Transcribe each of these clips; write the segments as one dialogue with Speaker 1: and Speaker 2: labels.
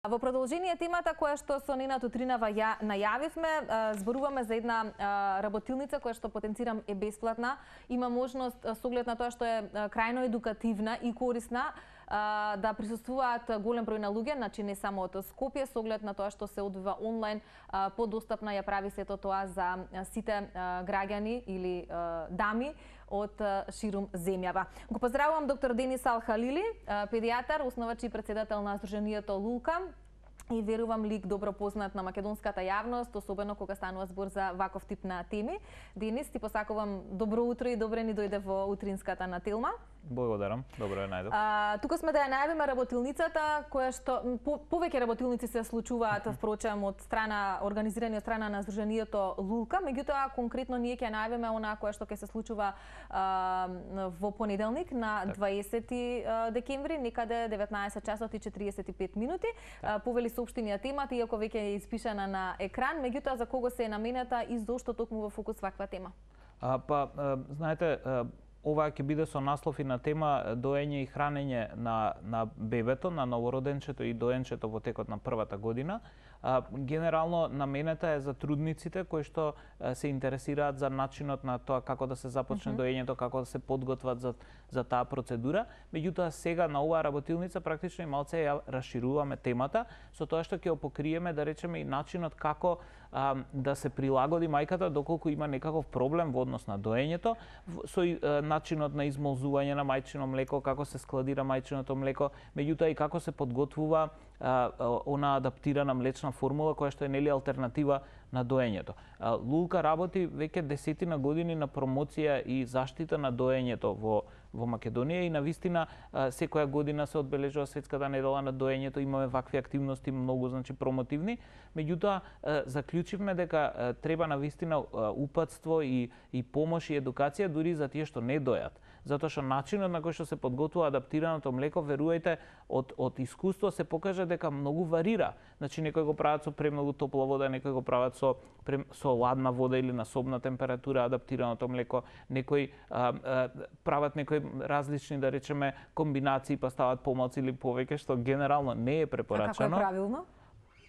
Speaker 1: Во продолжение темата која што со Нина Тутринава ја најавивме, зборуваме за една работилница која што потенцирам е бесплатна. Има можност со оглед на тоа што е крајно едукативна и корисна да присуствуваат голем број на луѓе, значи не само од Скопје, со оглед на тоа што се одвива онлайн, подостапна ја прави сето тоа за сите граѓани или дами од ширум земјава. Го поздравувам доктор Денис Ал-Халили, педијатар, основач и председател на Сдруженијето Лулка, и верувам лик добро познат на македонската јавност, особено кога станува збор за ваков тип на теми. Денис, ти посакувам добро утро и добре ни дојде во утринската на Телма.
Speaker 2: Благодарам, добро ја најдов.
Speaker 1: Тука сме да ја најавиме работилницата, која што повеќе работилници се случуваат впрочем од страна организирани од страна на Сдруженијето Лулка, меѓутоа конкретно ние ќе најавиме она која што ќе се случува во понеделник на 20 декември, некаде 19 часот и 45 минути. Повели соопштенија темата, иако веќе е испишана на екран, меѓутоа за кого се е наменета и зошто токму во фокус ваква тема?
Speaker 2: Знаете, ова ќе биде со наслов и на тема доење и хранење на бебето, на новороденчето и доенчето во текот на првата година. Генерално наменета е за трудниците кои што се интересираат за начинот на тоа како да се започне доењето, како да се подготват за таа процедура. Меѓутоа сега на оваа работилница практично и малце ја расшируваме темата со тоа што ќе ја покриеме, да речеме, и начинот како да се прилагоди мајката доколку има некаков проблем во однос на доењето, со начинот на измолзување на мајчино млеко, како се складира мајчиното млеко, меѓутоа и како се подготвува она адаптирана млечна формула која што е нели алтернатива на доењето. Лулка работи веќе десетина години на промоција и заштита на доењето во Македонија и навистина секоја година се одбележува светската недела на доењето, имаме вакви активности многу промотивни, меѓутоа заклучивме дека треба навистина упатство и помош и едукација дури за тие што не дојат. Затоа што начинот на кој што се подготвува адаптираното млеко, верувајте, од искуство се покажа дека многу варира. Значи некои го прават со премногу топла вода, некои го прават со ладна вода или на собна температура адаптираното млеко, некои прават некои различни, да речеме, комбинации, па стават помалку или повеќе, што генерално не е препорачано.
Speaker 1: А како е правилно?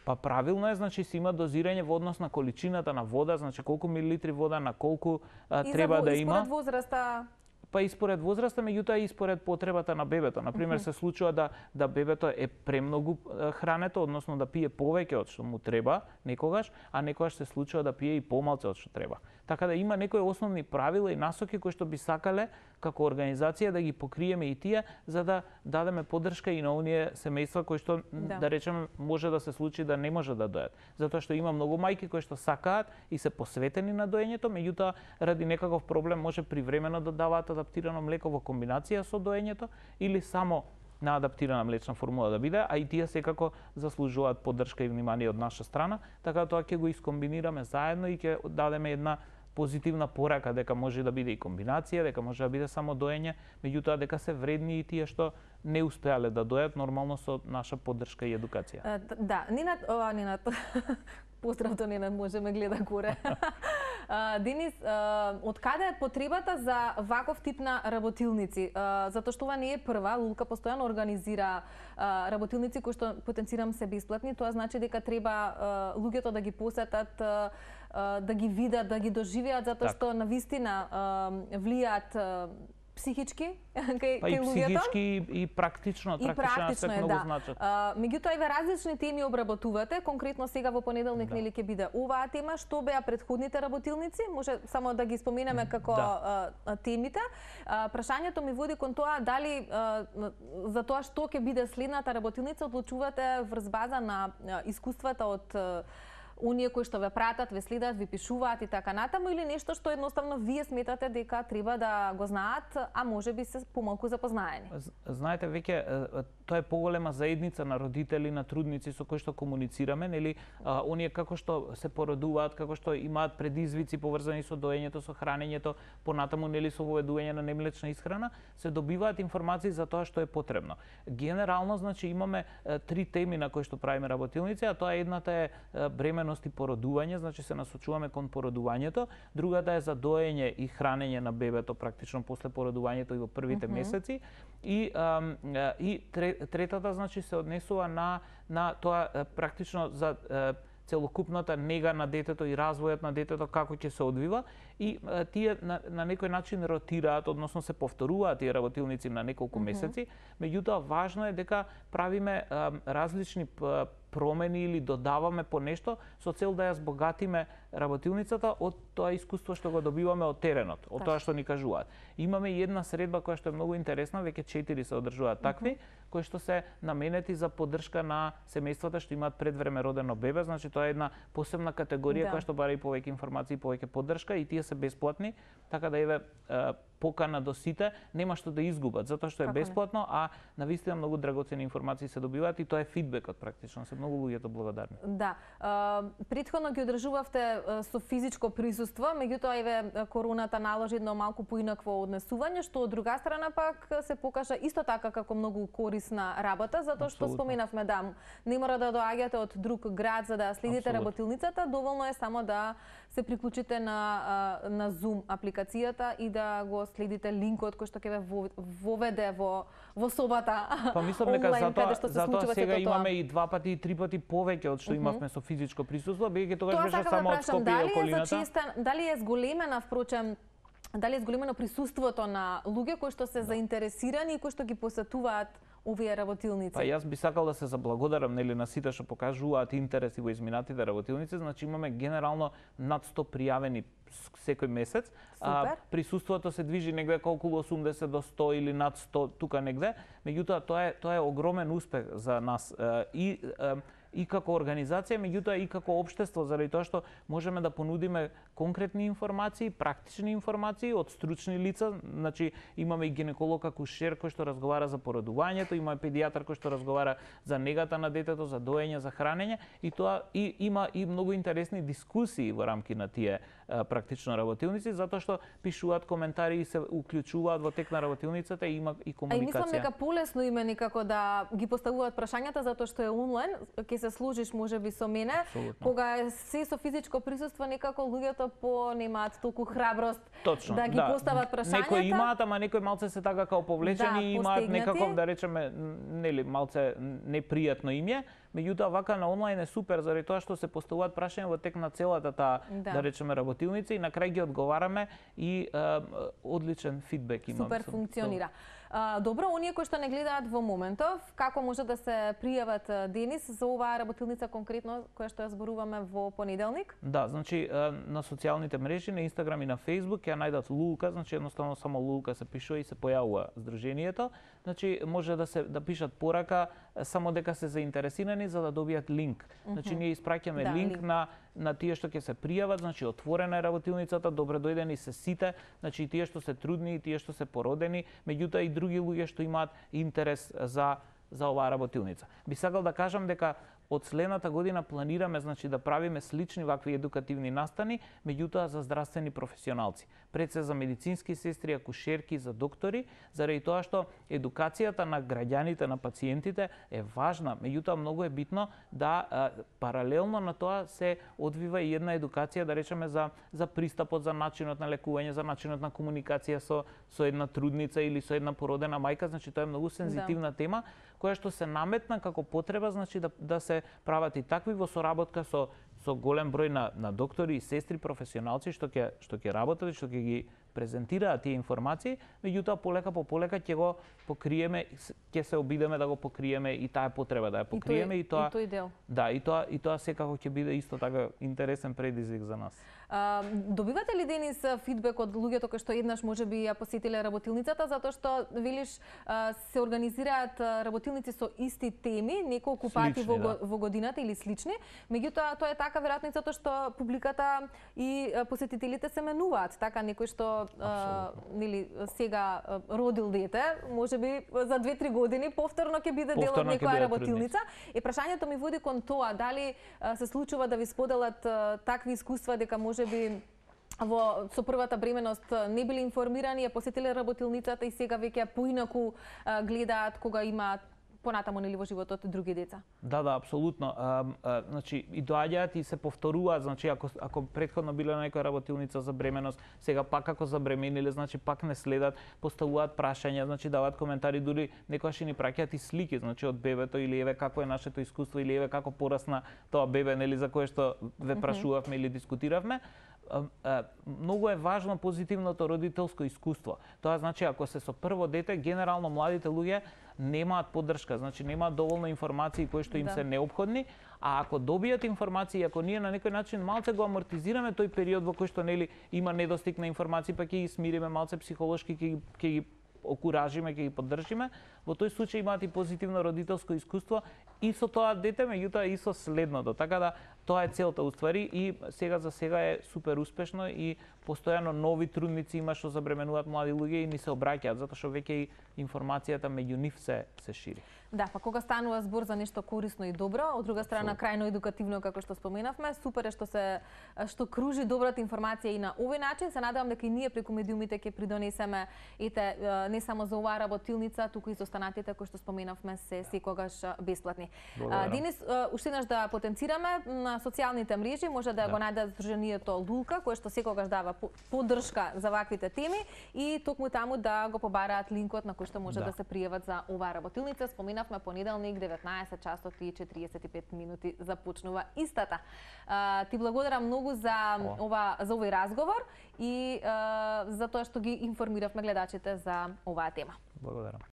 Speaker 2: Па правилно е, значи се има дозирање во однос на количината на вода, значи колку милилитри вода на колку треба да има.
Speaker 1: И според возраста?
Speaker 2: Па и според возраста, меѓутоа и според потребата на бебето. Например, се случува да бебето е премногу хрането, односно да пие повеќе од што му треба некогаш, а некогаш се случува да пие и помалку од што треба. Така да има некои основни правила и насоки кои што би сакале како организација да ги покриеме и тие, за да дадеме поддршка и на оние семејства кои што да речеме може да се случи да не може да дојат. Затоа што има многу мајки кои што сакаат и се посветени на доењето, меѓутоа ради некаков проблем може привремено да даваат адаптирано млеко во комбинација со доењето или само на адаптирана млечна формула да биде, а и тие секако заслужуваат поддршка и внимание од наша страна, така тоа ќе го искомбинираме заедно и ќе дадеме една позитивна порака дека може да биде и комбинација, дека може да биде само доење, меѓутоа дека се вредни и тие што не успеале да дојат нормално со наша поддршка и едукација.
Speaker 1: Да, Нинат, поздрав до Нинат, може ме гледа горе. Денис, од каде е потребата за ваков тип на работилници? Затоа што ова не е прва, Лулка постојано организира работилници кои што потенцирам се бесплатни, тоа значи дека треба луѓето да ги посетат, да ги видат, да ги доживеат, затоа што навистина влијаат психички кај луѓето.
Speaker 2: И психички и практично се многу значат.
Speaker 1: Меѓутоа еве различни теми обработувате, конкретно сега во понеделник нели ќе биде оваа тема, што беа претходните работилници, може само да ги споменеме како темите. Прашањето ми води кон тоа дали за тоа што ќе биде следната работилница одлучувате врз база на искуствата од оние кои што ве пратат, ве следат, ви пишуваат и така натаму, или нешто што едноставно вие сметате дека треба да го знаат, а можеби се помалку запознаени?
Speaker 2: Знаете, веќе тоа е поголема заедница на родители, на трудници со кои што комуницираме, нели, оние како што се породуваат, како што имаат предизвици поврзани со доењето, со хранењето, понатаму нели со воведување на немлечна исхрана, се добиваат информации за тоа што е потребно. Генерално, значи, имаме три теми на кои што правиме работилници, а тоа едната е бременност и породување, значи се насочуваме кон породувањето, другата е за доење и хранење на бебето практично после породувањето и во првите месеци, и третата значи се однесува на тоа практично за целокупната нега на детето и развојот на детето како ќе се одвива и тие на некој начин ротираат, односно се повторуваат тие работилници на неколку месеци, меѓутоа важно е дека правиме различни промени или додаваме по нешто со цел да ја збогатиме работилницата од тоа искуство што го добиваме од теренот, од тоа што ни кажуваат. Имаме и една средба која што е многу интересна, веќе 4 се одржуваат такви, кои што се наменети за поддршка на семејствата што имаат предвреме родено бебе, значи тоа е една посебна категорија која што бара и повеќе информации, повеќе поддршка и тие се бесплатни, така да еве покана до сите, нема што да изгубат, затоа што е бесплатно, а навистина многу драгоцени информации се добиваат и тоа е фидбекот практично, се многу луѓето благодарни.
Speaker 1: Да, претходно ги одржувавте со физичко присуство, меѓутоа еве короната наложи едно малку поинакво однесување, што од друга страна пак се покажа исто така како многу корисна работа, затоа што споменавме да не мора да доаѓате од друг град за да следите работилницата, доволно е само да се приклучите на Zoom апликацијата и да го следите линкот кој што ќе ве воведе во собата.
Speaker 2: Па мислам дека затоа сега имаме и 2 пати и 3 пати повеќе од што имавме со физичко присуство, бидејќи тогаш беше само од Скопје и околината.
Speaker 1: Дали е зголемена впрочем дали е зголемено присуството на луѓе кои што се заинтересирани и кои што ги посетуваат овие работилници?
Speaker 2: Па јас би сакал да се заблагодарам на сите што покажуваат интерес и во изминатите работилници, значи имаме генерално над 100 пријавени секој месец. Присуството се движи негде околу 80 до 100 или над 100 тука негде, меѓутоа тоа е огромен успех за нас и како организација, меѓутоа и како општество, заради тоа што можеме да понудиме конкретни информации, практични информации од стручни лица, значи имаме и гинеколог акушер кој што разговара за породувањето, имаме педијатар кој што разговара за негата на детето, за доење, за хранење и тоа и има и многу интересни дискусии во рамки на тие практично работилници, затоа што пишуваат коментари и се уклучуваат во тек на работилницата и има и комуникација.
Speaker 1: А мислам дека полесно им е некако да ги поставуваат прашањата затоа што е онлайн, ќе се служиш можеби со мене. Кога е се со физичко присуство, некако луѓето немаат толку храброст да ги постават прашањата.
Speaker 2: Некои имаат, ама некои малце се така као повлечени и имаат некаков, да речеме, нели малце непријатно им е. Меѓутоа вака на онлайн е супер заради тоа што се поставуваат прашања во тек на целата таа, да речеме, работилница и на крај ги одговараме и одличен фидбек имаме.
Speaker 1: Супер функционира. Добро, оние кои што не гледаат во моментов, како може да се пријават, Денис, за оваа работилница конкретно која што ја зборуваме во понеделник?
Speaker 2: Да, значи на социјалните мрежи, на Инстаграм и на Фејсбук ќе најдат Лулка, значи едноставно само Лулка се пишува и се појавува здруженијето. Значи може да пишат порака само дека се заинтересирани за да добијат линк. Значи ние испраќаме линк на тие што ќе се пријават, значи отворена е работилницата, добре дојдени се сите, значи и тие што се трудни и тие што се породени, меѓутоа и други луѓе што имаат интерес за оваа работилница. Би сакал да кажам дека од следната година планираме значи да правиме слични вакви едукативни настани, меѓутоа за здравствени професионалци. Пред се за медицински сестри, акушерки, за доктори, заради тоа што едукацијата на граѓаните, на пациентите е важна, меѓутоа многу е битно да паралелно на тоа се одвива и една едукација, да речеме за пристапот, за начинот на лекување, за начинот на комуникација со една трудница или со една породена мајка, значи тоа е многу сензитивна тема која што се наметна како потреба, значи да се прават и такви во соработка со голем број на доктори и сестри професионалци што ќе работат и што ќе ги презентираат тие информации, меѓутоа полека по полека ќе го покриеме, ќе се обидеме да го покриеме и таа потреба да ја покриеме
Speaker 1: и тој дел.
Speaker 2: Да, и тоа секако ќе биде исто така интересен предизвик за нас.
Speaker 1: Добивате ли, Денис, фидбек од луѓето кои што еднаш можеби ја посетиле работилницата, затоа што велиш се организираат работилници со исти теми неколку пати во годината или слични, меѓутоа тоа е така веројатно затоа што публиката и посетителите се менуваат, така некој што нели сега родил дете, можеби за 2-3 години повторно ќе биде дел од некоја работилница. И прашањето ми води кон тоа, дали се случува да ви споделат такви искуства дека можеби со првата бременост не били информирани, ја посетиле работилницата и сега веќе поинаку гледаат кога имаат понатаму нели во животот други деца.
Speaker 2: Да, апсолутно. Значи и доаѓаат и се повторуваат, значи ако претходно биле на некоја работилница за бременост, сега пак ако забремениле, значи пак не следат, поставуваат прашања, значи даваат коментари, дури некогаш и ни праќаат и слики, значи од бебето или еве како е нашето искуство или еве како порасна тоа бебе, нели за кое што ве прашувавме или дискутиравме. Многу е важно позитивното родителско искуство. Тоа значи ако се со прво дете, генерално младите луѓе немаат поддршка, значи немаат доволно информации кои што им се неопходни, а ако добијат информации, ако ние на некој начин малце го амортизираме тој период во кој што нели има недостиг на информации, па ќе ги смириме малце психолошки, ќе ги окуражиме, ќе ги поддржиме, во тој случај имаат и позитивно родителско искуство и со тоа дете, меѓутоа и со следното. Така да тоа е целта уствари и сега за сега е супер успешно и постојано нови трудници има што забременуваат млади луѓе и ни се обраќаат затоа што веќе и информацијата меѓу нив се шири.
Speaker 1: Да, па кога станува збор за нешто корисно и добро, од друга страна крајно едукативно како што споменавме, супер е што кружи добрата информација и на овој начин. Се надевам дека и ние преку медиумите ќе придонесеме не само за оваа работилница, туку и за останатите кои што споменавме се секогаш бесплатни. Денис, уште еднаш да потенцираме на социјалните мрежи, може да го најдат Сдруженијето Лулка, кое што секогаш дава поддршка за ваквите теми и токму таму да го побараат линкот на кој што може да се пријават за оваа работилница. Споменавме понеделник 19 часот и 45 минути започнува истата. Ти благодарам многу за овој разговор и за тоа што ги информиравме гледачите за оваа тема.
Speaker 2: Благодарам.